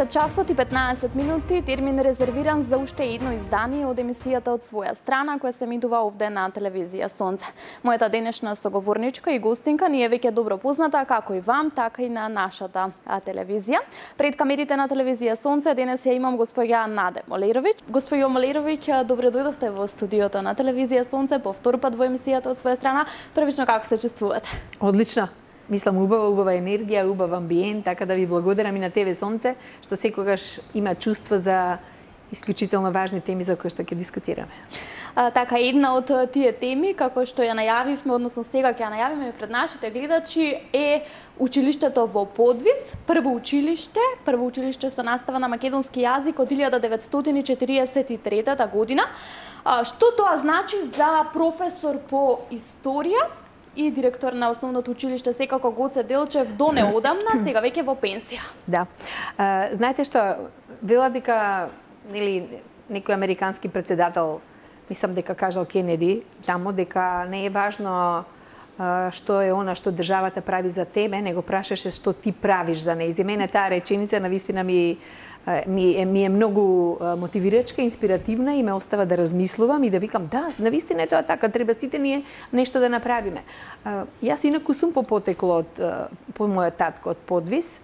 Часот и 15 минути, термин резервиран за уште едно издание од емисијата од своја страна, која се емитува овде на телевизија Сонце. Мојата денешна соговорничка и гостинка ни е веќе добро позната како и вам, така и на нашата телевизија. Пред камерите на телевизија Сонце денес ја имам госпоѓа Наде Молеровиќ. Госпоѓо Молеровиќ, добро дојдовте во студиото на телевизија Сонце, по втор пат во емисијата од своја страна. Првично, како се чувствувате? Одлично. Мислам, убава енергија, убав амбиент, така да ви благодарам и на ТВ Сонце, што секогаш има чувство за исклучително важни теми за кои што ќе дискутираме. Така, една од тие теми, како што ја најавивме, односно сега ќе ја најавиме пред нашите гледачи, е училиштето во Подвис, прво училиште со настава на македонски јазик од 1943 година. Што тоа значи за професор по историја и директор на основното училиште секако Гоце Делчев до неодамна, сега веќе во пенсија? Да. Знаете што, вела дека некој американски председател, мислам дека кажал Кенеди, тамо дека не е важно што е она што државата прави за тебе, него прашаше што ти правиш за неја. За мене таа реченица навистина ми е многу мотивирачка, инспиративна и ме остава да размислувам и да викам, да, навистина е тоа така, треба сите ние нешто да направиме. Јас инаку сум по потекло по мојот татко од Подвис.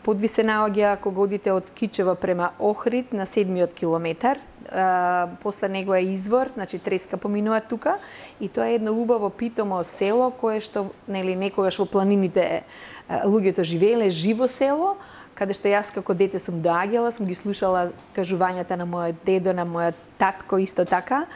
Подвис се наоѓа кога одите од Кичево према Охрид на 7-миот километар. После него е извор, значи треска поминува тука и тоа е едно убаво питомо село кое што некогаш во планините луѓето живееле, живо село, каде што јас како дете сум доаѓала, сум ги слушала кажувањата на мојот дедо, на мојот татко исто така,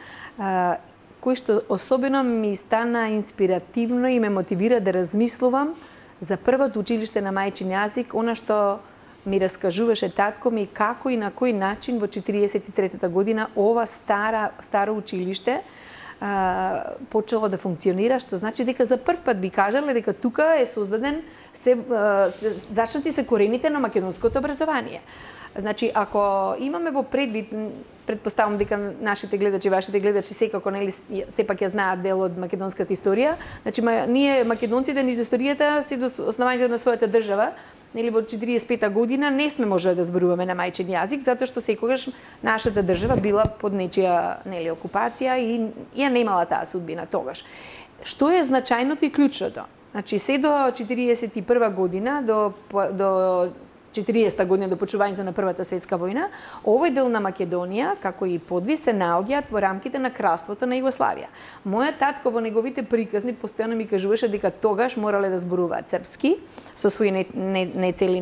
кој што особено ми стана инспиративно и ме мотивира да размислувам за првото училиште на мајчин јазик, она што ми раскажуваше татко ми како и на кој начин во 43-та година ова старо училиште почело да функционира, што значи дека за прв пат би кажале дека тука е создаден зачнати се корените на македонското образование. Значи, ако имаме во предвид, предпоставам дека нашите гледачи, вашите гледачи секако сепак ја знаат дел од македонската историја, значи ние македонците низ историјата се до основањето на својата држава, во 45-та година не сме можеле да зборуваме на мајчин јазик, затоа што секогаш нашата држава била под нечија окупација и ја немала таа судбина тогаш. Што е значајното и клучното? Значи, се до 41 година, до 40-та година до почувањето на Првата светска војна, овој дел на Македонија, како и Подвис, се наоѓаат во рамките на кралството на Југославија. Мојот татко во неговите приказни постојано ми кажуваше дека тогаш морале да зборуваат српски, со своји нецели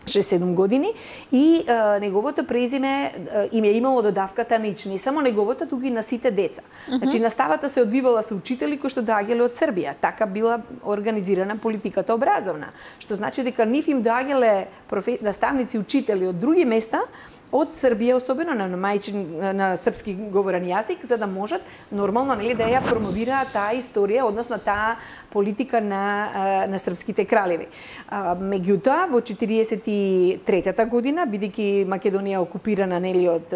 6-7 години и неговото презиме им е имало додавката Нич, не само неговото, туку и на сите деца. Значи, наставата се одвивала со учители кои што доаѓале од Србија. Така била организирана политиката образовна. Што значи дека нив им доаѓале наставници, учители од други места, од Србија, особено на српски говорен јазик, за да можат нормално да ја промовираат таа историја, односно таа политика на српските кралеви. Меѓутоа, во 43-та година, бидејќи Македонија е окупирана од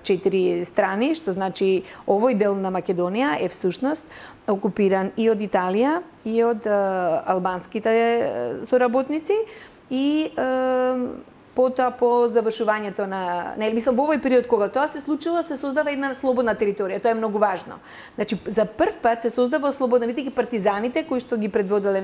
4 страни, што значи овој дел на Македонија е всушност окупиран и од Италија, и од албанските соработници, и потоа по завршувањето на, мислам во овој период кога тоа се случило, се создава една слободна територија. Тоа е многу важно. Значи, за прв пат се создава слободна, бидејќи партизаните кои што ги предводеле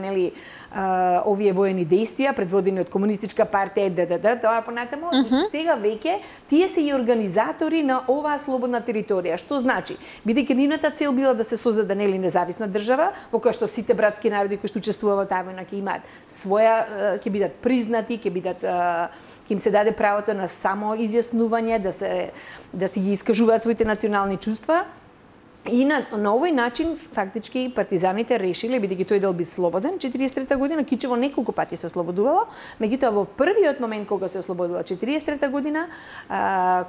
овие воени действија, предводени од комунистичка партија ДДД, тоа понатаму, сега веќе тие се и организатори на оваа слободна територија. Што значи? Бидејќи нивната цел била да се создаде независна држава, во која што сите братски народи кои што учествуваа во таа војна ќе имаат своја, ќе бидат признати, ќе им се даде правото на само изјаснување, да си ги искажуваат своите национални чувства. И на овој начин фактички партизаните решиле, бидејќи тој дел би слободен, 43 година Кичево неколку пати се ослободувало, меѓутоа во првиот момент кога се ослободува 43 година,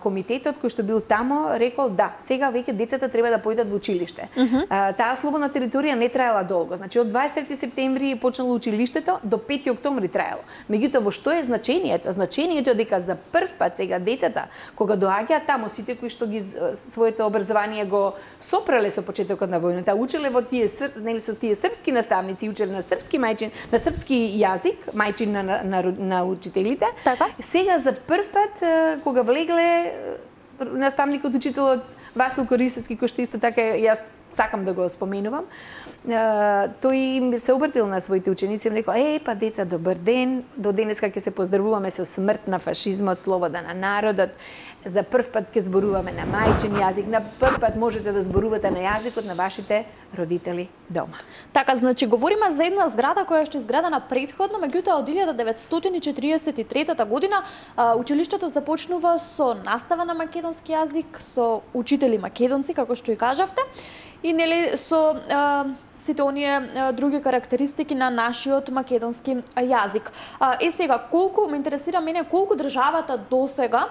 комитетот кој што бил тамо рекол да, сега веќе децата треба да појдат во училиште. Таа слободна територија не траела долго, значи од 23 септември почнало училиштето, до 5 октомври траело. Меѓутоа во што е значењето? Значењето е дека за прв пат сега децата кога доаѓаат тамо, сите кои што ги своето образование го сопреле со почетокот на војната, учеле во тие нели со тие српски наставници, учеле на српски мајчин, на српски јазик, мајчин на учителите. Така? Сега за прв пат кога влегле наставникот, учителот Васил Користевски, кој што исто така јас сакам да го споменувам, тој им се обратил на своите ученици и им рекол: па деца, добар ден, до денеска ќе се поздравуваме со смрт на фашизмот, слобода на народот, за прв пат ќе зборуваме на мајчин јазик, на прв пат можете да зборувате на јазикот на вашите родители дома. Така, значи говориме за една зграда која што е изградена претходно, меѓутоа од 1943 година училиштето започнува со настава на македонски јазик, со учители македонци, како што и кажавте, и нели со сите оние други карактеристики на нашиот македонски јазик. Сега, колку ме интересира мене колку државата досега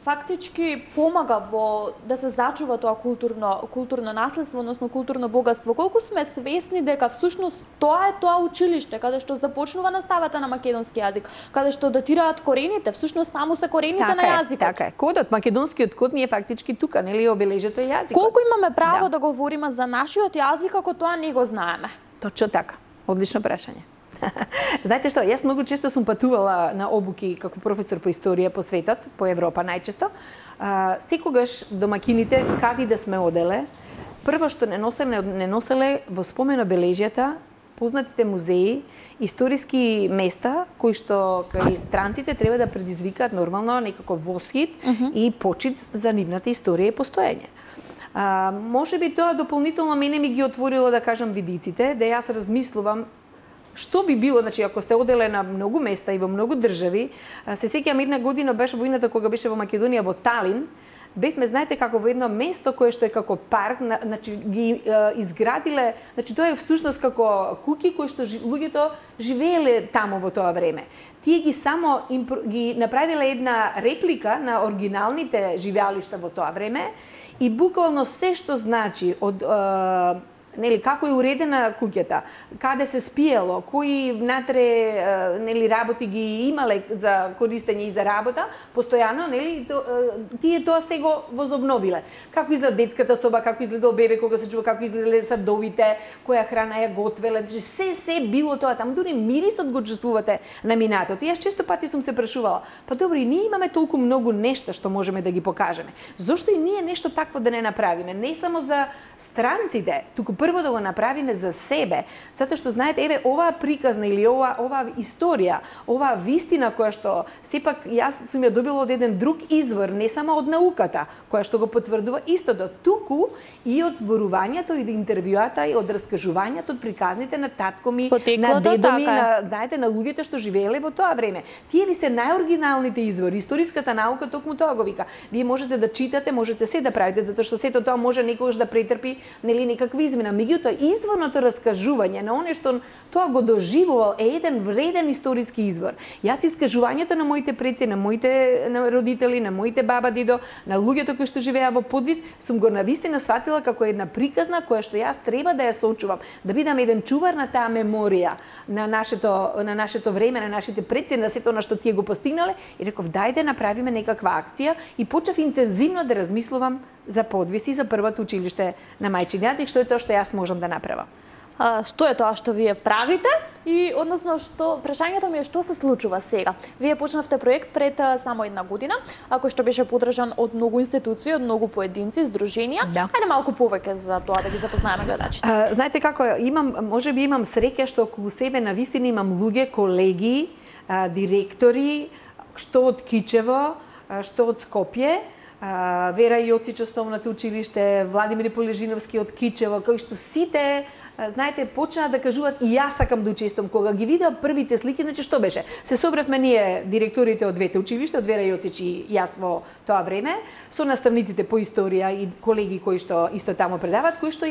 фактички помага во да се зачува тоа културно наследство, односно културно богатство. Колку сме свесни дека всушност тоа е тоа училиште каде што започнува наставата на македонски јазик, каде што датираат корените, всушност таму се корените на јазикот. Така е. Кодот, македонскиот код ни е фактички тука, нели, обележето е јазикот. Колку имаме право да говориме за нашиот јазик ако тоа не го знаеме? Точно така. Одлично прашање. Знаете што, јас многу често сум патувала на обуки како професор по историја по светот, по Европа најчесто. Секогаш домакините, каде да сме оделе, прво што не носеле во спомен обележјата познатите музеи, историски места кои што кај странците треба да предизвикаат нормално некако восхит и почит за нивната историја и постоење. Може би тоа дополнително мене ми ги отворило, да кажам, видиците, да јас размислувам што би било, значи, ако сте оделе на многу места и во многу држави. Се сеќавам една година беше војната кога беше во Македонија, во Талин, бевме, знаете, како во едно место кое што е како парк, значи ги изградиле, значи тоа е всушност како куќи кои што луѓето живееле таму во тоа време. Тие ги само ги направиле една реплика на оригиналните живеалишта во тоа време и буквално се што значи од нели како е уредена куќата, каде се спиело, кои внатре нели работи ги имале за користење и за работа, постојано, нели тие тоа се го возобновиле. Како изгледа детската соба, како изгледал бебе кога се чува, како изгледале садовите, која храна ја готвеле, се било тоа таму, дури мирисот го чувствувате на минатото. Јас често пати сум се прашувала, па добро, и ние имаме толку многу нешта што можеме да ги покажеме. Зошто и ние нешто такво да не направиме? Не само за странците, туку прво да го направиме за себе, затоа што знаете, еве оваа приказна или оваа историја, оваа вистина која што сепак јас сум ја добила од еден друг извор, не само од науката, која што го потврдува истото, туку и од зборувањето и од интервјуата и од раскажувањето, од приказните на татко ми, на дедо ми, знаете, на луѓето што живееле во тоа време. Тие ви се најоригиналните извори. Историската наука токму тоа го вика. Вие можете да читате, можете се да правите, затоа што сето тоа може некогаш да претрпи нели некаква измена. Меѓутоа, изворното раскажување на оне што тоа го доживувал е еден вреден историски извор. Јас искажувањето на моите предци, на моите родители, на моите баба, дедо, на луѓето кои што живеа во подвис, сум го навистина сватила како една приказна која што јас треба да ја сочувам, да бидам еден чувар на таа меморија на нашето време, на нашите предци, на сето на што тие го постигнале, и реков дајде направиме некаква акција и почнав интензивно да размислувам за подвис и за првото училиште на мајчин јазик, што е тоа што јас можам да направам. Што е тоа што вие правите и односно што прашањето ми е што се случува сега. Вие почнавте проект пред само една година, кој што беше поддржан од многу институции, од многу поединци, здруженија. Да. Ајде малку повеќе за тоа да ги запознаеме гледачите. Знаете како, можеби имам среќа што околу себе навистина имам луѓе, колеги, директори, што од Кичево, што од Скопје, Вера Јоцич, основното училиште, Владимир Полежиновски од Кичево, кои што сите знаете, почнаа да кажуваат и јас сакам да учествувам. Кога ги видеа првите слики, значи што беше? Се собравме ние директорите од двете училишта, од Вера Јоцич и јас во тоа време, со наставниците по историја и колеги кои што исто таму предаваат, кои што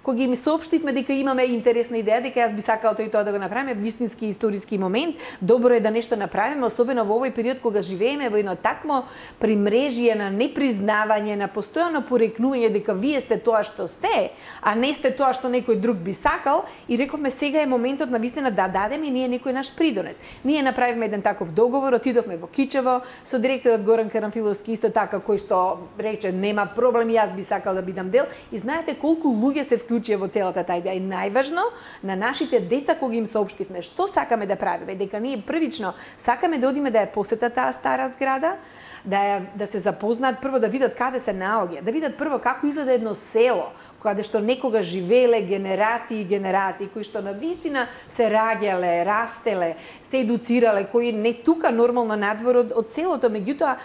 кога ги ми соопштивме дека имаме интересна идеја, дека јас би сакала тој и тоа да го направиме, вистински историски момент, добро е да нешто направиме, особено во овој период кога живееме во едно такво примрежие на непризнавање, на постојано порекнување дека вие сте тоа што сте, а не сте тоа што некој друг би сакал, и рековме сега е моментот на вистина да дадеме ние некој наш придонес. Ние направивме еден таков договор, отидовме во Кичево со директорот Горан Карамфиловски исто така, кој што рече нема проблем, јас би сакал да бидам дел, и знаете колку луѓе се вклучија во целата таа идеја. И најважно, на нашите деца кога им соопштивме што сакаме да правиме, дека ние првично сакаме да одиме да ја посетат таа стара зграда, да се запознаат, прво да видат каде се наоѓа, да видат прво како изгледа едно село, каде што некога живееле генерации и генерации, кои што навистина се раѓале, растеле, се едуцирале, кои не тука нормално надвор од селото, меѓутоа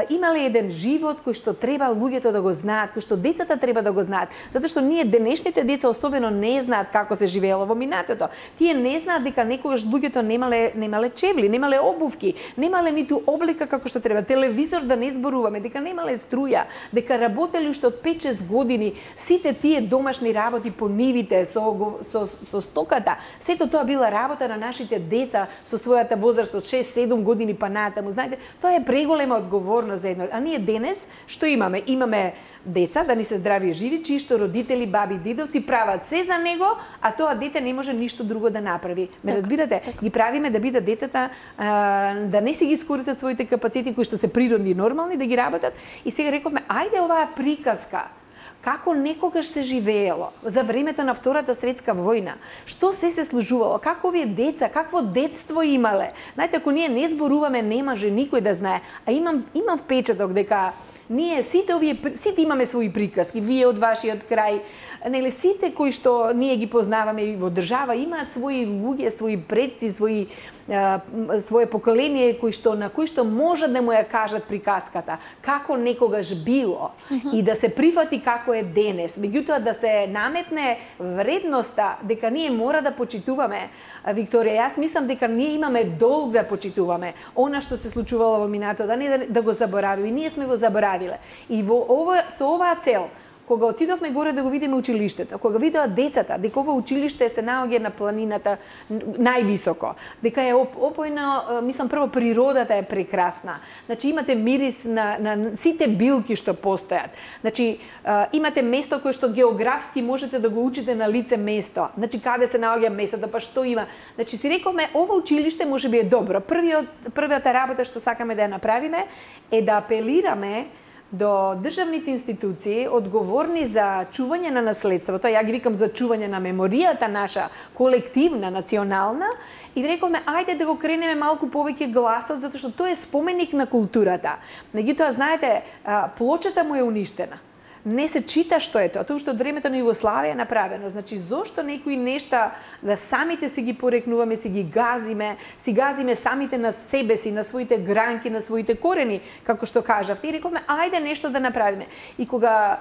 имале еден живот кој што треба луѓето да го знаат, кој што децата треба да го знаат, затоа што ние денешните деца особено не знаат како се живеело во минатото. Тие не знаат дека некогаш луѓето немале чевли, немале обувки, немале ниту облика како што треба, телевизор да не зборуваме, дека немале струја, дека работеле уште од 5-6 години, сите тие домашни работи по нивите, со стоката, сето тоа била работа на нашите деца со својата возраст од 6-7 години па натаму. Знаете, тоа е преголема одговорност за едно. А ние денес што имаме? Имаме деца, да ни се здрави и живи, чии што родители, баби, дидовци прават се за него, а тоа дете не може ништо друго да направи. Ме разбирате? Ги правиме да бидат децата, да не си ги искористат своите капацитети кои што се природни и нормални, да ги работат. И сега рековме, ајде оваа приказка како некогаш се живеело за времето на Втората светска војна, што се служувало, како овие деца, какво детство имале. Знаете, ако ние не зборуваме, не може никој да знае. А имам впечаток дека ние сите имаме своји приказки, вие од вашиот крај, нели сите кои што ние ги познаваме и во држава имаат своји луѓе, своји предци, свое поколение на кои што може да му ја кажат приказката, како некогаш било и да се прифати како е денес. Меѓутоа да се наметне вредноста дека ние мора да почитуваме. Викторија, јас мислам дека ние имаме долг да почитуваме она што се случувало во минатото, да не да го заборавиме. Ние сме го заборавиле. И со оваа цел, кога отидовме горе да го видиме училиштето, кога видоа децата дека ова училиште се наоѓа на планината највисоко, дека е опојно, мислам прво природата е прекрасна. Значи имате мирис на сите билки што постојат. Значи имате место кое што географски можете да го учите на лице место. Значи каде се наоѓа местото, па што има. Значи си рековме ова училиште можеби е добро. Првата работа што сакаме да ја направиме е да апелираме до државните институции одговорни за чување на наследството, ја ги викам за чување на меморијата наша колективна, национална, и рековме ајде да го кренеме малку повеќе гласот, затоа што тоа е споменик на културата. Меѓутоа, знаете, плочата му е уништена. Не се чита што е тоа што од времето на Југославија е направено. Значи, зошто некои нешта да самите си ги порекнуваме, си ги газиме самите на себе си, на своите гранки, на своите корени, како што кажавте, и рековме, ајде нешто да направиме. И кога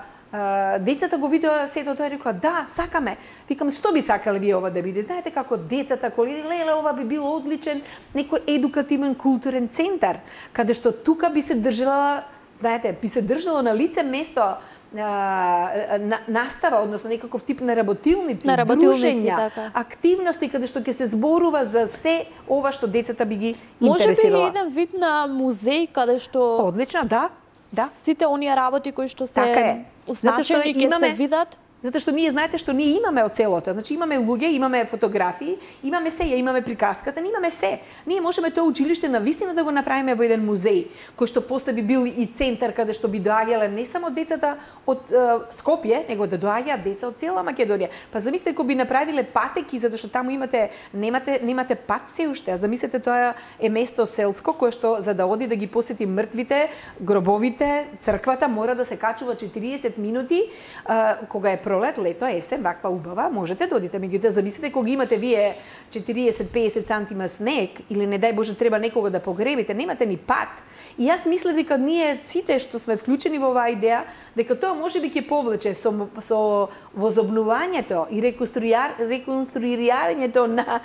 децата го видоа сето тоа, рекоа, да, сакаме. Викам, што би сакале вие ова да биде? Знаете како децата, леле, ова би било одличен некој едукативен културен центар, каде што тука би се држала, знаете, би се држало на лице место настава, односно некаков тип на работилници, дружења, активности каде што ќе се зборува за се ова што децата би ги интересирало. Може би еден вид на музеј каде што одлично, да. Сите оние работи кои што се означени ќе се видат. Затоа што ние знаете што ние имаме од целото. Значи имаме луѓе, имаме фотографии, имаме се, имаме приказката, имаме се. Ние можеме тоа училиште навистина да го направиме во еден музеј, кој што после би бил и центар каде што би доаѓале не само децата од Скопје, него да доаѓаат деца од цела Македонија. Па замислете кога би направиле патеки, затоа што таму немате пат се уште. А замислете тоа е место селско кое што за да оди да ги посети мртвите, гробовите, црквата мора да се качува 40 минути, кога е пролет, лето, есен, ваква убава, можете да одите. Меѓутоа, замислете кога имате вие 40-50 сантима снег или не дај Боже треба некого да погребите, немате ни пат. И јас мислам дека ние сите што сме вклучени во оваа идеја, дека тоа можеби ќе повлече со возобнувањето и реконструирањето на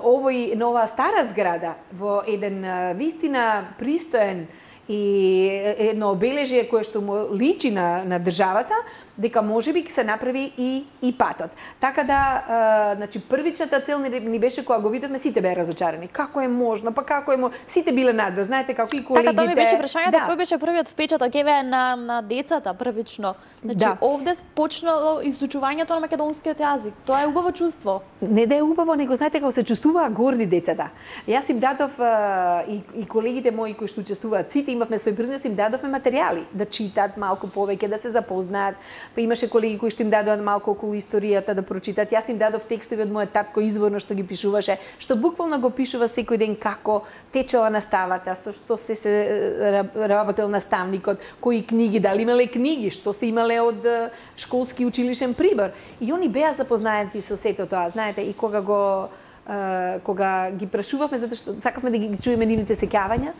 оваа стара зграда во еден вистина пристоен и едно обележје кое што му личи на државата, дека можеби ќе се направи и патот. Така да, значи првичната цел ни беше кога го видовме, сите беа разочарани. Како е можно? Па како е можно? Сите биле надвор, знаете како и колегите. Така тоа ми беше прашањето, кој беше првиот впечаток еве на децата првично. Значи овде почнало изучувањето на македонскиот јазик. Тоа е убаво чувство. Не да е убаво, него знаете како се чувствуваат горди децата. Јас им дадов и колегите мои кои што учествуваат, сите имавме свој принос, им дадовме материјали да читат малку повеќе, да се запознаат. Па имаше колеги кои што им дадоа малку околу историјата да прочитат. Јас им дадов текстови од мојот татко изворно што ги пишуваше, што буквално го пишува секој ден како течела наставата, со што се работел наставникот, кои книги, дали имале книги, што се имале од школски училишен прибор. И они беа запознаати со сето тоа, знаете, и кога ги прашувавме, затоа што сакавме да ги чуеме нивните сеќавања,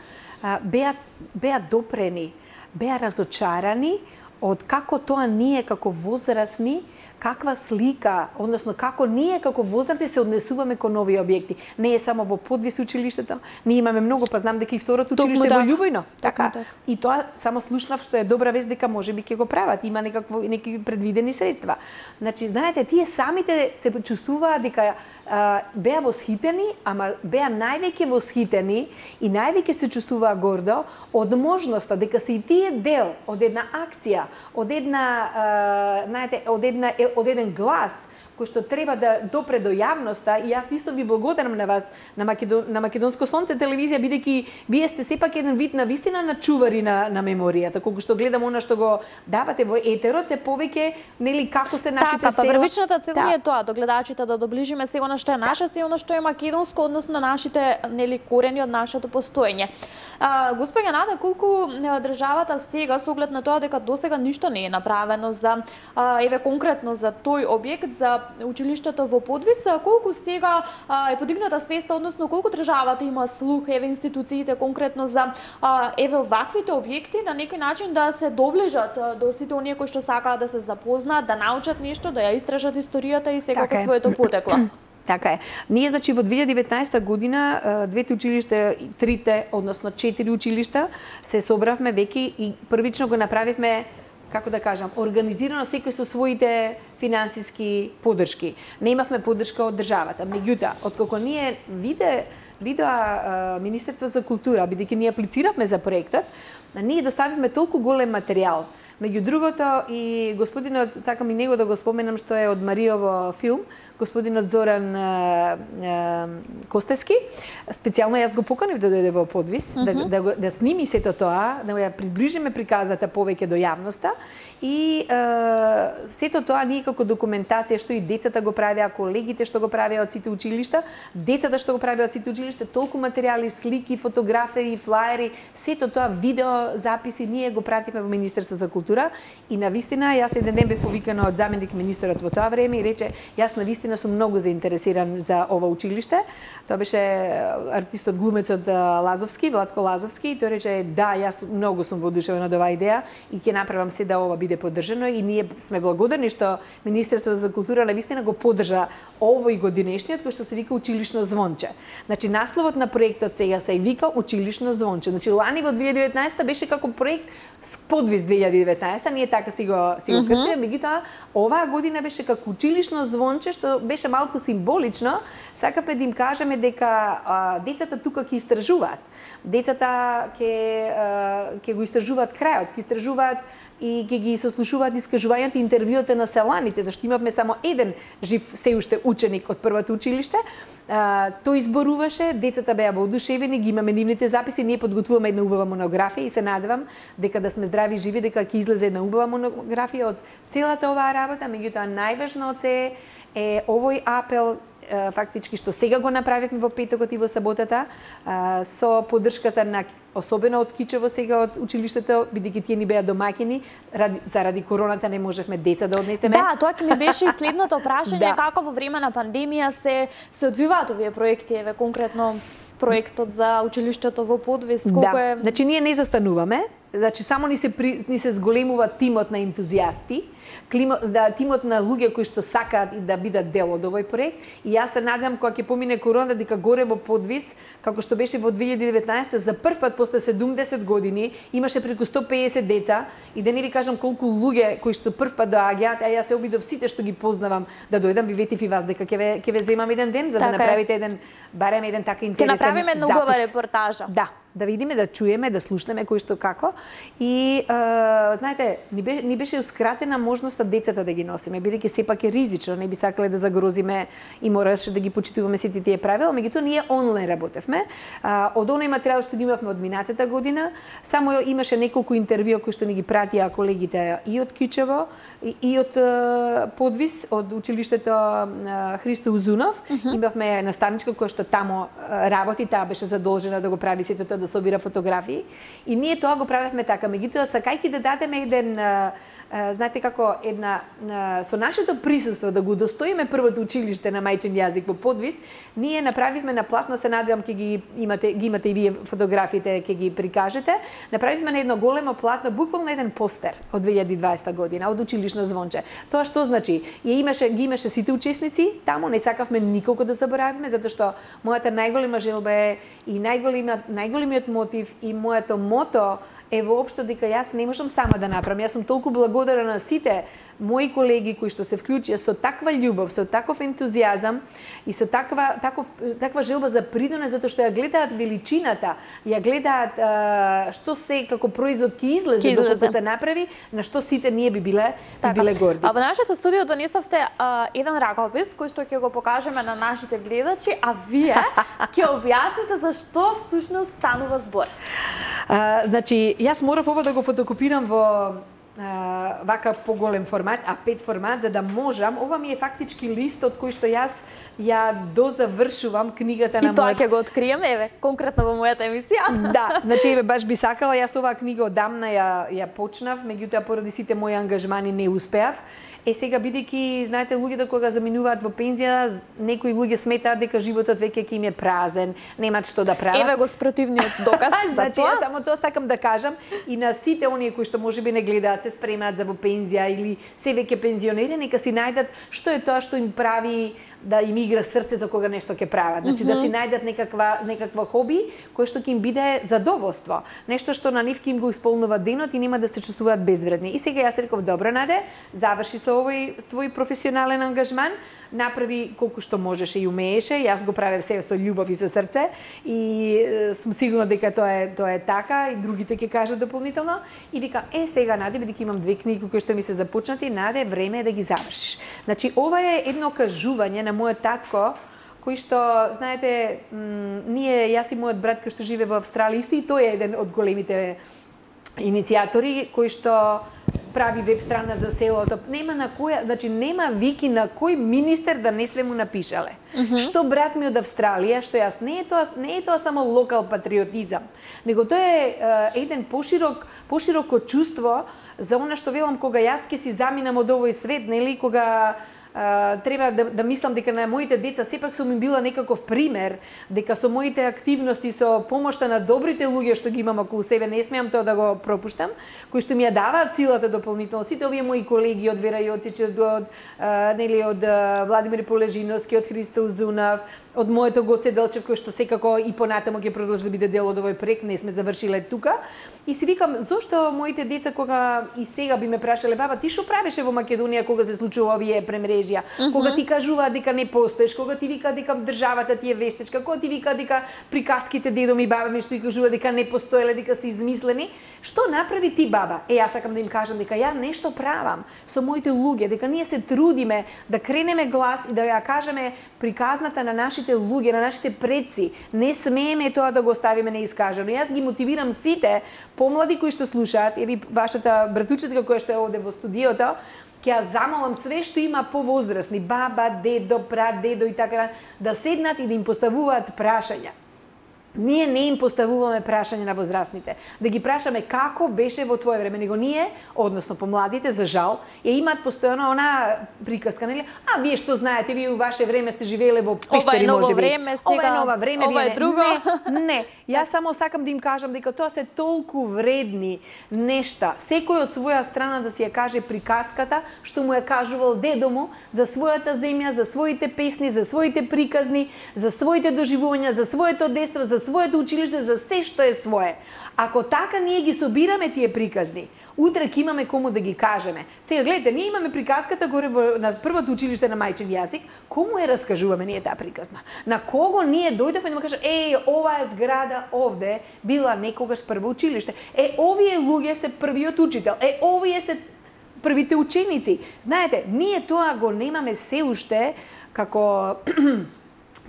беа допрени, беа разочарани од како тоа ние како возрасни, каква слика, односно како ние како возрасни се однесуваме кон овие објекти. Не е само во Подвис училиштето, ние имаме многу, па знам дека и второто училиште во Љубојно. Така. И тоа само слушнав што е добра вест дека можеби ќе го прават, има некакви предвидени средства. Значи, знаете, тие самите се чувствуваат дека беа восхитени, ама беа највеќе восхитени и највеќе се чувствуваа гордо од можноста дека се и тие дел од една акција, од една, знаете, од еден глас кој што треба да допре до јавноста, и јас исто ви благодарам на вас, на Македонско сонце телевизија, бидејќи вие сте сепак еден вид на вистина на чувари на меморијата, колку што гледам она што го давате во етерот, се повеќе, нели, како се нашите села. Така, првичната цел е тоа, до гледачите да доближиме се она што е наше, се она што е македонско, односно на нашите, нели, корени од нашето постоење. Господја Нада, колку државата сега, со оглед на тоа дека досега ништо не е направено за, еве конкретно за тој објект, за училиштето во Подвис, колку сега е подигната свеста, односно колку државата има слух, еве институциите конкретно за еве ваквите објекти, на некој начин да се доближат до сите оние кои што сакаат да се запознаат, да научат нешто, да ја истражат историјата и секако своето потекло. Така е. Ние, значи, во 2019 година, двете училишта, трите, односно 4 училишта, се собравме веќе и првично го направивме, како да кажам, организирано секој со своите финансиски поддршки. Не имавме поддршка од државата. Меѓутоа, откако ние видоа Министерство за култура, бидејќи ние аплициравме за проектот, ние доставивме толку голем материјал. Меѓу другото, и господинот, сакам и него да го споменам, што е од Маријово филм, господинот Зоран Костески, специјално јас го поканив да дојде во Подвис, да сними сето тоа, да ја приближиме приказата повеќе до јавноста, и сето тоа ние како документација, што и децата го правеа, колегите што го правеа од сите училишта, децата што го правеа од сите училишта, толку материјали, слики, фотографии, флаери, сето тоа видео записи, ние го пратиме во Министерство за култура, и навистина јас еден ден бев повикана од заменик министерот во тоа време и рече, јас навистина сум многу заинтересиран за ова училиште. Тоа беше артистот глумецот Лазовски, Владко Лазовски, и тој рече, да, јас многу сум воодушевен од оваа идеја и ќе направам се да ова биде поддржано, и ние сме благодарни што Министерството за култура навистина го поддржа овој годинешниот, кој што се вика Училишно звонче. Значи насловот на проектот сега се вика Училишно звонче. Значи лани во 2019 беше како проект Подвис 2019, ние така си го крстиме, меѓутоа оваа година беше како Училишно звонче, што беше малку символично. Сакавме да им кажеме дека децата тука ќе истражуваат. Децата ќе го истражуваат крајот, ќе истражуваат и ќе ги сослушуваат искажувањата и интервјуите на селаните, зашто имавме само еден жив се уште ученик од првото училиште. Тој изборуваше, децата беа воодушевени, ги имаме нивните записи, ние подготвуваме една убава монографија и се надевам дека да сме здрави и живи, дека ќе излезе една убава монографија од целата оваа работа, меѓутоа најважно од се е овој апел фактички што сега го направивме во петокот и во саботата, со поддршката на особено од Кичево сега од училиштето, бидејќи тие ни беа домаќини, заради короната не можевме деца да однесеме. Да, тоа ќе ми беше и следното прашање, како во време на пандемија се одвиваат овие проекти, еве конкретно проектот за училиштето во Подвис, колку е... Значи ние не застануваме, значи само ни се зголемува тимот на ентузијасти, тимот на луѓе кои што сакаат да бидат дел од овој проект, и јас се надевам кога ќе помине короната дека горе во Подвис, како што беше во 2019, за прв пат после 70 години имаше преку 150 деца, и да не ви кажам колку луѓе кои што прв пат доаѓаат, а јас се обидов сите што ги познавам да дојдам, ви ветив и вас дека ќе ве земам еден ден за да направите барем еден така интересен запис. Ќе направиме една убава репортажа. Да видиме, да чуеме, да слушнеме кој што како. И знаете, ни бешеускратена можноста децата да ги носиме, бидејќи сепак е ризично, не би сакале да загрозиме и мораше да ги почитуваме сите тие правила, меѓутоа ние онлайн работевме. Од оној материјал што имавме од минатата година, само имаше неколку интервјуа кои што ни ги пратија колегите и од Кичево, и од Подвис, од училиштето Христо Узунов. Имавме наставничка која што тамо работи, таа беше задолжена да го прави сето тоа, да собира фотографии, и ние тоа го правевме така. Меѓутоа, сакајќи да дадеме еден, знаете како, со нашето присуство да го достоиме првото училиште на мајчин јазик во Подвис, ние направивме на платно, се надевам ќе ги имате и вие фотографиите, ќе ги прикажете, направивме на едно големо платно, буквално еден постер од 2020 година, од училишно звонче. Тоа што значи? Ги имаше сите учесници таму, не сакавме никого да заборавиме, затоа што мојата најголема желба е и најголемиот мотив и моето мото е воопшто дека јас не можам сама да направам. Јас сум толку благодарна на сите мои колеги кои што се вклучија со таква љубов, со таков ентузијазам и со таква желба за придонес, затоа што ја гледаат величината, ја гледаат што се како производ ќе излезе доколку се направи, на што сите ние би биле горди. А во нашето студио донесовте еден ракопис кој што ќе го покажеме на нашите гледачи, а вие ќе објасните за што всушност станува збор. Значи, јас морав ова да го фотокопирам во вака поголем формат, А5 формат, за да можам, ова ми е фактички лист од кој што јас ја дозавршувам книгата на мојот... И тоа ќе го откриеме, еве, конкретно во мојата емисија. Да, значи, еве, баш би сакала, јас оваа книга одамна ја почнав, меѓутоа поради сите мои ангажмани не успеав. Сега, бидејќи, знаете, луѓето кога заминуваат во пензија, некои луѓе сметаат дека животот веќе ќе им е празен, немаат што да прават. Еве го спротивниот доказ за значи, тоа. Само тоа сакам да кажам и на сите оние кои што можеби не гледаат, се спремаат за во пензија или се веќе пензионери, нека си најдат што е тоа што им прави да им игра срцето кога нешто ќе прават. Значи да си најдат некаква хоби кој што ќе им биде задоволство. Нешто што на нив ќе им го исполнува денот и нема да се чувствуваат безвредни. И сега јас реков, добро, Наде, заврши со овој твој професионален ангажман, направи колку што можеше и умееше, јас го правев се со љубов и со срце и сум сигурна дека тоа е така и другите ќе кажат дополнително и вика, сега Наде, бидејќи имам 2 книги кои што ми се започнати, Наде, време е да ги завршиш. Значи ова е едно кажување на мојот татко, кој што, знаете, јас и мојот брат кој што живее во Австралија, исто и тој е еден од големите иницијатори кој што прави веб страна за селото. Нема на која, значи нема вики на кој министер да не сме му напишале. Што брат ми од Австралија, што јас не е тоа само локал патриотизам, него тоа е еден пошироко чувство за она што велам кога јас ќе си заминам од овој свет, нели, кога треба да мислам дека на моите деца сепак сум им била некаков пример, дека со моите активности, со помошта на добрите луѓе што ги имам околу себе, не смеам тоа да го пропуштам, кои што ми ја даваат силата дополнително. Сите овие мои колеги од Вера Јоцич, од Владимир Полежиновски, од Христо Узунов, од моето Гоце Делчев, кој што секако и понатамо ќе продолжи да биде дел од овој проект, не сме завршиле тука. И си викам, зошто моите деца кога и сега би ме прашале, баба, ти што правеше во Македонија кога се случува овие премрежја? Кога ти кажуваат дека не постоеш, кога ти вика дека државата ти е вештечка, кога ти вика дека приказките дедо ми, баба ми што и кажува дека не постоеле, дека се измислени, што направи ти, баба? Јас сакам да им кажам дека ја нешто правам со моите луѓе, дека ние се трудиме да кренеме глас и да ја кажеме приказната на нашите луѓе, на нашите предци. Не смееме тоа да го оставиме неискажано. Јас ги мотивирам сите помлади кои што слушаат, еви вашата братучетка која што е овде во студиото, ќе ја замолам све што има повозрасни, баба, дедо, прадедо и така, да седнат и да им поставуваат прашања. Ние не им поставуваме прашање на возрастните. Да ги прашаме како беше во твое време. Него ние, односно помладите, за жал, ја имаат постојано она приказка, нели? А, вие што знаете, вие у ваше време сте живееле во пештери, можеби. Време, сега, ова е ново време, ова е друго. Не, јас само сакам да им кажам дека тоа се толку вредни нешта. Секој од своја страна да си ја каже приказката што му ја кажувал дедо му за својата земја, за своите песни, за своите приказни, за своите доживувања, за своето детство, за своето училиште, за се што е свое. Ако така ние ги собираме тие приказни, утре ќе имаме кому да ги кажеме. Сега гледате, ние имаме приказката горе на првото училиште на мајчин јазик, кому ја раскажуваме ние таа приказна? На кого ние дојдовме да му кажеме, оваа зграда овде била некогаш прво училиште. Овие луѓе се првиот учител. Овие се првите ученици. Знаете, ние тоа го немаме се уште како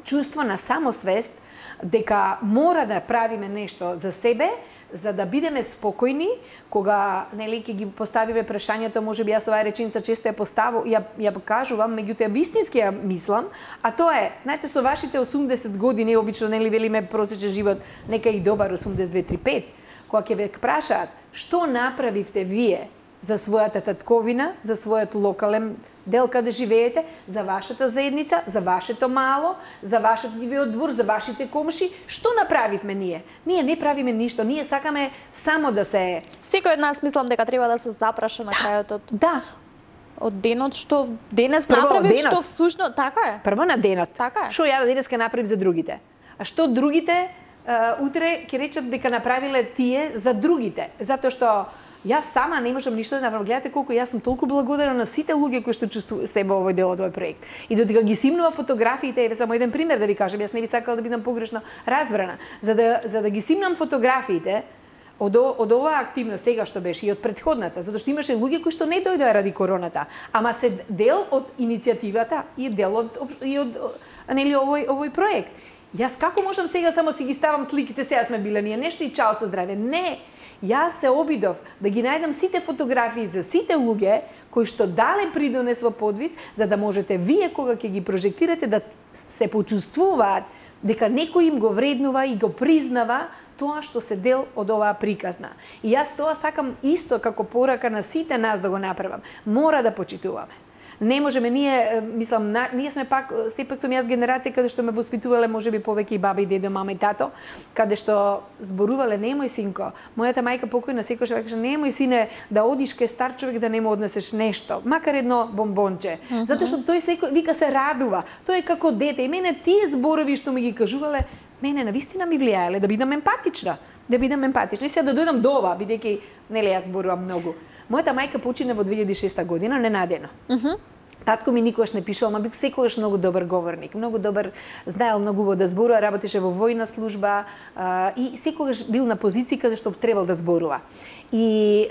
чувство на самосвест, дека мора да правиме нешто за себе, за да бидеме спокојни, кога нели ќе ги поставиме прашањето, можеби јас оваа реченица често ја кажувам, меѓутоа вистински ја мислам, а тоа е, знаете, со вашите 80 години, обично нели велиме просечен живот, нека и добар 82-35, кога ќе ве прашаат што направивте вие за својата татковина, за својот локален дел каде живеете, за вашата заедница, за вашето мало, за вашиот двор, за вашите комши, што направивме ние? Ние не правиме ништо, ние сакаме само да се... Секој од нас мислам дека треба да се запраша на крајот од денот што денес направив, што всушност така е. Прво на денот. Така е. Што ја денеска направив за другите? А што другите утре ќе речат дека направиле тие за другите? Затоа што јас сама не можам ништо да направам. Гледате колку јас сум толку благодарна на сите луѓе кои што чувствуваат себе овој дел од овој проект. И додека ги симнува фотографиите, еве само еден пример да ви кажам, јас не би сакала да бидам погрешно разбрана. За да ги симнам фотографиите од оваа активност сега што беше и од претходната, затоа што имаше луѓе кои што не дојдоа ради короната, ама се дел од иницијативата и дел од нели овој проект. Јас како можам сега само си ги ставам сликите, сега сме биле ние нешто и чао со здраве? Не! Јас се обидов да ги најдам сите фотографии за сите луѓе кои што дале придонес во подвис, за да можете вие кога ќе ги прожектирате да се почувствуваат дека некој им го вреднува и го признава тоа што се дел од оваа приказна. И јас тоа сакам исто како порака на сите нас да го направам. Мора да почитуваме. Не можеме ние, мислам, ние сме пак, сепак сум јас генерација каде што ме воспитувале можеби повеќе и баба и дедо, мама и тато, каде што зборувале немој синко. Мојата мајка покојна секогаш векаше немој сине да одиш кај стар човек да не му однесеш нешто, макар едно бомбонче. Затоа што тој секој вика се радува. Тој е како дете и мене тие зборови што ми ги кажувале, мене навистина ми влијаеле да бидам емпатична. Да бидам емпатична. И сега да дојдам до ова, бидејќи нели јас зборувам многу. Мојата мајка почина во 2006 година, ненадено. Татко ми никогаш не пишувал, ма бил секогаш многу добар говорник, многу добар, знаел многу убаво да зборува, работеше во војна служба и секогаш бил на позиција каде што требал да зборува. И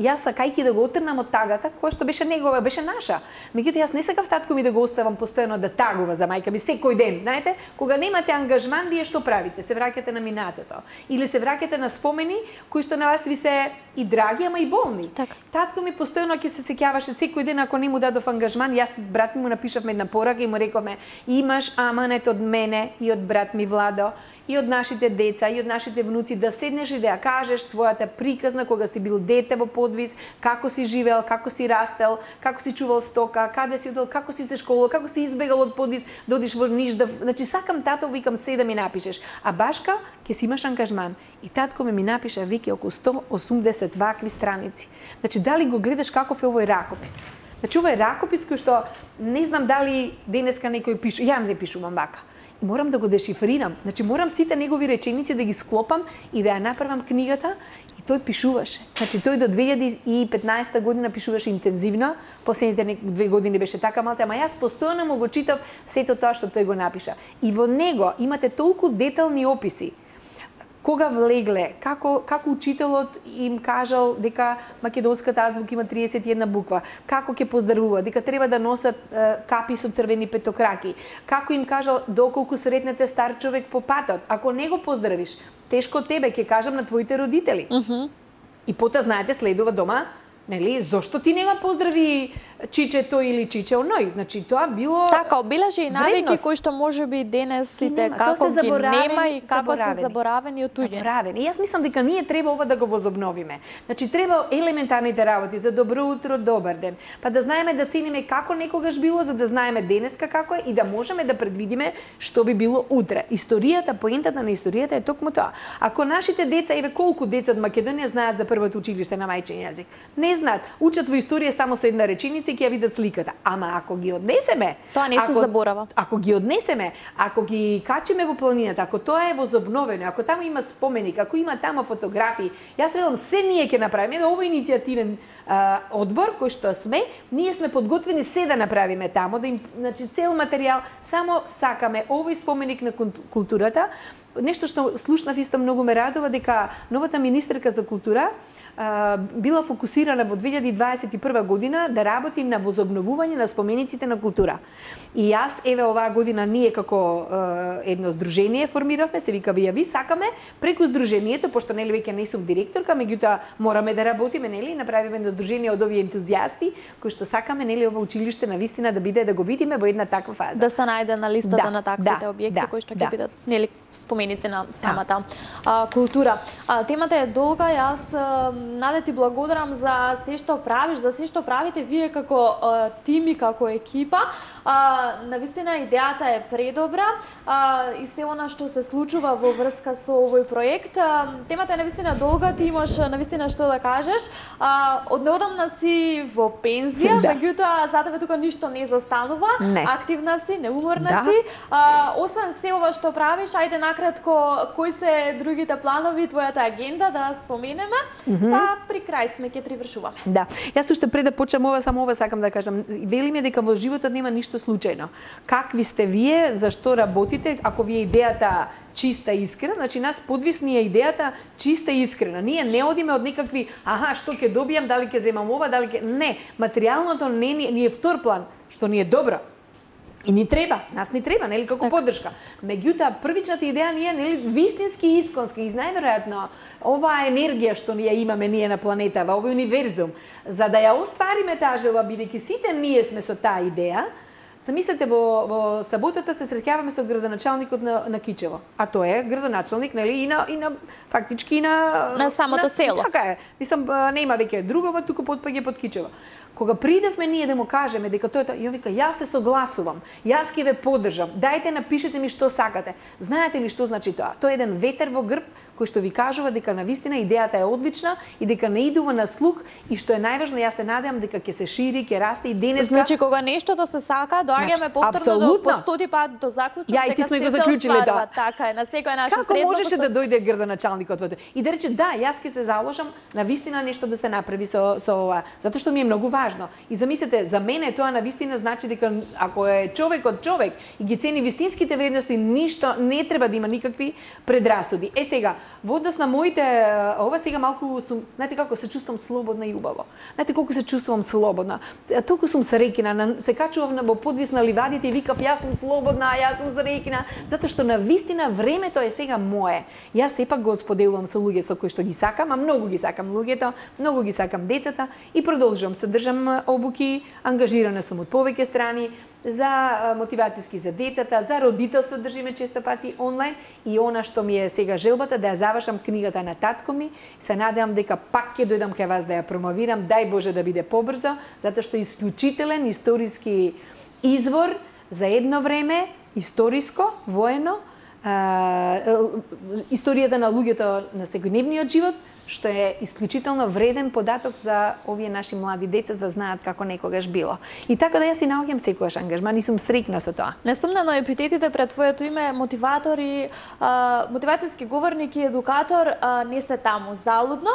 јас сакајќи да го отрнам од тагата, која што беше негова, беше наша. Меѓутоа јас не сакав татко ми да го оставам постојано да тагува за мајка ми секој ден, знаете? Кога немате ангажман, вие што правите? Се враќате на минатото или се враќате на спомени кои што на вас ви се и драги, ама и болни. Так. Татко ми постојано ќе се сеќаваше секој ден ако не му дадов ангажман, јас с брат ми му напишавме една порака и му рековме: имаш аманет од мене и од брат ми Владо и од нашите деца и од нашите внуци да седнеш и да ја кажеш твојата приказна кога си бил дете во подвис, како си живеел, како си растел, како си чувал стока, каде си одел, како си се школувал, како си избегал од подвис, да одиш во Ниш, значи сакам тато, викам се да ми напишеш. А башка ќе си имаш ангажман. И татко ми напиша веќе околу 180 вакви страници. Значи дали го гледаш каков е овој ракопис? Значи ова е ракопис кој што не знам дали денеска некој пише, ја не пишувам вака. И морам да го дешифрирам. Значи морам сите негови реченици да ги склопам и да ја направам книгата и тој пишуваше. Значи тој до 2015 година пишуваше интензивно, последните 2 години беше така малце, ама јас постојано му го читав сето тоа што тој го напиша. И во него имате толку детални описи. Кога влегле, како учителот им кажал дека македонската азбука има 31 буква, како ќе поздравува, дека треба да носат капи со црвени петокраки, како им кажал доколку сретнете стар човек по патот, ако не го поздравиш, тешко тебе, ќе кажам на твоите родители. И потоа, знаете, следува дома Нели, зошто ти не го поздрави чичето или чиче оној? Значи тоа било така обележи и навики кои што можеби денес сите како ги нема и како се заборавени од туѓе. И јас мислам дека ние треба ова да го возобновиме. Значи треба елементарните работи за добро утро, добар ден, па да знаеме да цениме како некогаш било, за да знаеме денеска како е и да можеме да предвидиме што би било утре. Историјата, поентата на историјата е токму тоа. Ако нашите деца, еве колку деца од Македонија знаат за првото училиште на мајчин јазик, не знаат, учат во историја само со една реченица и ќе ја видат сликата. Ама ако ги однесеме, тоа не се заборава. Ако ги однесеме, ако ги качиме во планината, ако тоа е возобновено, ако таму има споменик, ако има таму фотографии, јас велам се ние ќе направиме. Еве овој иницијативен одбор кој што сме, ние сме подготвени се да направиме таму, да им, значи цел материјал, само сакаме овој споменик на културата. Нешто што слушнав исто многу ме радува, дека новата министерка за култура била фокусирана во 2021 година да работи на возобновување на спомениците на култура. И јас, еве оваа година, ние како едно здружение формиравме, се вика ВИАВИ, сакаме преку здружението, пошто нели веќе не сум директорка, меѓутоа мораме да работиме, нели, направиме едно здружение од овие ентузијасти кои што сакаме, нели, ова училиште навистина да биде, да го видиме во една таква фаза. Да се најде на листата на таквите објекти кои што ќе бидат, нели, споменици на самата култура. Темата е долга, јас Наде ти благодарам за се што правиш, за се што правите вие како тим и како екипа. Навистина идејата е предобра и се она што се случува во врска со овој проект. Темата е навистина долга, ти имаш навистина што да кажеш. Однеодамна си во пензија, меѓутоа за тебе тука ништо не застанува. Активна си, неуморна си. Освен се ова што правиш, ајде накратко кои се другите планови, твојата агенда да споменеме, па при крај сме ќе привршуваме. Да, јас уште пред да почнам ова, само ова сакам да кажам. Велиме дека во животот нема ништо случајно. Какви сте вие, зашто работите, ако ви е идејата чиста и искрена, значи нас подвисни е идејата чиста и искрена. Ние не одиме од некакви, што ќе добијам, дали ќе земам ова, дали ќе... Не, материјалното не е втор план, што ни е добро. И ни треба, нас ни треба, нели, како поддршка. Меѓутоа, првичната идеја ни е, нели, вистински и исконски, и најверојатно оваа енергија што ние имаме ние на планетава, овој универзум, за да ја оствариме таа желба, бидејќи сите ние сме со таа идеја. Замислете, во саботата се среќаваме со градоначалникот на Кичево, а тој е градоначалник, нели, и на фактички на самото село. Така е. Мислам, нема веќе другова, туку потпаѓа под Кичево. Кога придевме ние да му кажеме дека тој ја вика, јас се согласувам, јас ќе ве поддржам, дајте напишете ми што сакате. Знаете ли што значи тоа? Тоа е еден ветер во грб кој што ви кажува дека навистина идејата е одлична и дека не идува на слух и што е најважно, јас се надевам дека ќе се шири, ќе расте и денеска. Значи кога нештото се сака, доаѓаме повторно по 100 пат до заклучок дека се остварува. Така е, на секоја наша средба. Како можеше да дојде градоначалникот во тоа? И да рече да, јас ќе се заложам навистина нешто да се направи со ова, затоа што ми е многу важно. И замислете, за мене тоа навистина значи дека ако е човек од човек и ги цени вистинските вредности, ништо не треба да има никакви предрасуди. Сега, во однос на моите, ова сега малку сум, знаете како се чувствам слободна и убаво. Знаете колку се чувствувам слободна. Толку сум среќна, се качував во подвис на ливадите и викав јас сум слободна, јас сум среќна, затоа што навистина времето е сега мое. Јас сепак го споделувам со луѓе со кои што ги сакам, а многу ги сакам луѓето, многу ги сакам децата и продолжувам се држам обуки, ангажирана сум од повеќе страни за мотивацијски за децата, за родителство држиме често пати онлайн и она што ми е сега желбата да ја завршам книгата на татко ми, се надевам дека пак ќе дојдам кај вас да ја промовирам, дај Боже да биде побрзо, затоа што е исклучителен историски извор за едно време, историско, воено, историјата на луѓето на секојдневниот живот, што е исклучително вреден податок за овие наши млади деца да знаат како некогаш било. И така да јас си наоѓам секогаш ангажман и сум среќна со тоа. Несумнено епитетите пред твоето име мотиватор и мотивацијски говорник и едукатор не се таму залудно.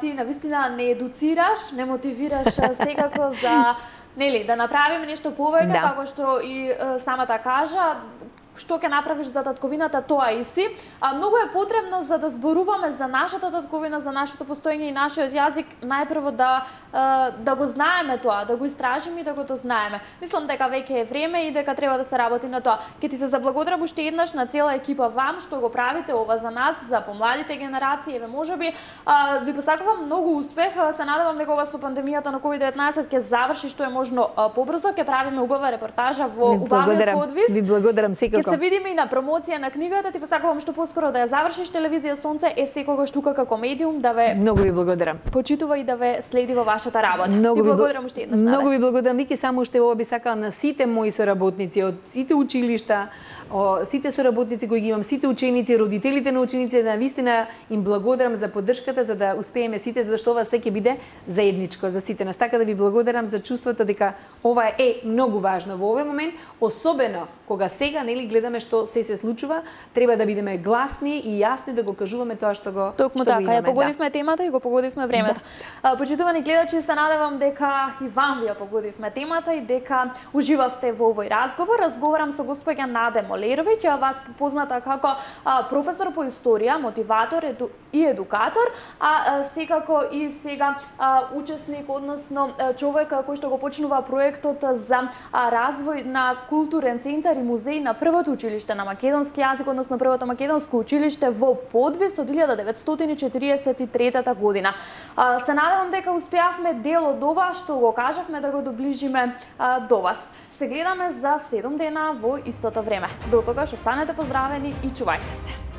Ти навистина не едуцираш, не мотивираш секако за, нели, да направиме нешто повеќе, како што и самата кажа. што ќе направиш за татковината, тоа и си. Многу е потребно за да зборуваме за нашата татковина, за нашето постоење и нашиот јазик, најпрво да го знаеме тоа, да го истражиме и да го дознаеме. Мислам дека веќе е време и дека треба да се работи на тоа. Ќе ти се заблагодарам уште еднаш на цела екипа вам што го правите ова за нас, за помладите генерации. Еве можеби ви посакувам многу успех. Се надевам дека ова со пандемијата на COVID-19 ќе заврши што е можно побрзо, ќе правиме убава репортажа во убавиот подвис. Ви благодарам секако. Ќе се видиме и на промоција на книгата. Ти посакувам што поскоро да ја завршиш. Телевизија Сонце е секогаш тука како медиум да ве Многу ви благодарам. Почитува и да ве следи во вашата работа. Многу ви благодарам уште еднаш. Многу ви благодарам. Вики само уште ова би сакала на сите мои соработници од сите училишта, сите соработници кои ги имам, сите ученици, родителите на ученици, да навистина им благодарам за поддршката за да успееме сите, затоа што ова се ќе биде заедничко за сите нас. Така да ви благодарам за чувството дека ова е многу важно во овој момент, особено кога сега нели гледаме што се случува, треба да бидеме гласни и јасни да го кажуваме тоа што го Токму така, ја погодивме темата и го погодивме времето. Почитувани гледачи, се надевам дека и вам ви ја погодивме темата и дека уживавте во овој разговор. Разговарам со госпоѓа Наде Молеровиќ, вас позната како професор по историја, мотиватор и едукатор, а секако и сега учесник, односно човек кој што го почнува проектот за развој на културен центар и музеј на првото училиште на македонски јазик, односно првото македонско училиште во Подвис од 1943 година. Се надевам дека успеавме дел од ова што го кажавме да го доближиме до вас. Се гледаме за 7 дена во истото време. До тогаш останете поздравени и чувајте се.